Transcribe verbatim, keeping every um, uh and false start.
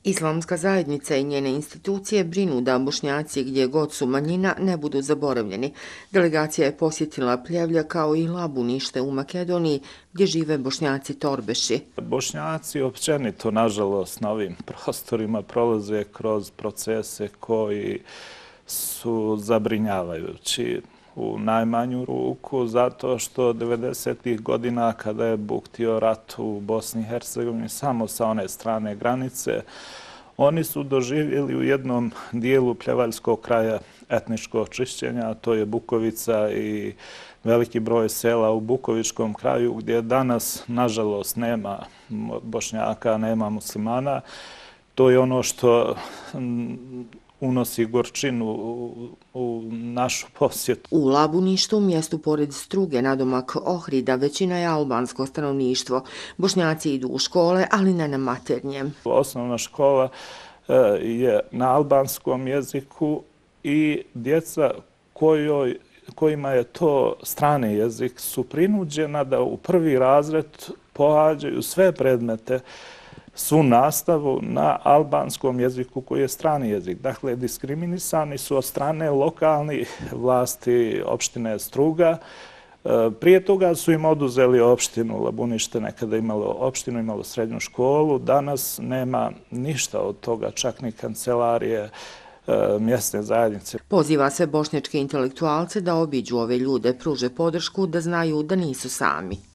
Islamska zajednica i njene institucije brinu da Bošnjaci gdje god su manjina ne budu zaboravljeni. Delegacija je posjetila Pljevlja kao i Labunište u Makedoniji gdje žive Bošnjaci Torbeši. Bošnjaci općenito, nažalost, na ovim prostorima prolaze kroz procese koji su zabrinjavajući u najmanju ruku, zato što devedesetih godina kada je buktio rat u Bosni i Hercegovini samo sa one strane granice, oni su doživjeli u jednom dijelu pljevaljskog kraja etničko očišćenje, a to je Bukovica i veliki broj sela u Bukovičkom kraju gdje danas, nažalost, nema Bošnjaka, nema muslimana. To je ono što unosi gorčinu u našu posjetu. U Labuništu, mjestu pored Struge, nadomak Ohrida, većina je albansko stanovništvo. Bošnjaci idu u škole, ali ne na maternjem. Osnovna škola je na albanskom jeziku i djeca kojoj, kojima je to strani jezik su prinuđena da u prvi razred pohađaju sve predmete, svu nastavu na albanskom jeziku koji je strani jezik. Dakle, diskriminisani su od strane lokalnih vlasti opštine Struga. Prije toga su im oduzeli opštinu. Labunište nekada imalo opštinu, imalo srednju školu. Danas nema ništa od toga, čak ni kancelarije mjesne zajednice. Poziva se bošnjačke intelektualce da obiđu ove ljude, pruže podršku da znaju da nisu sami.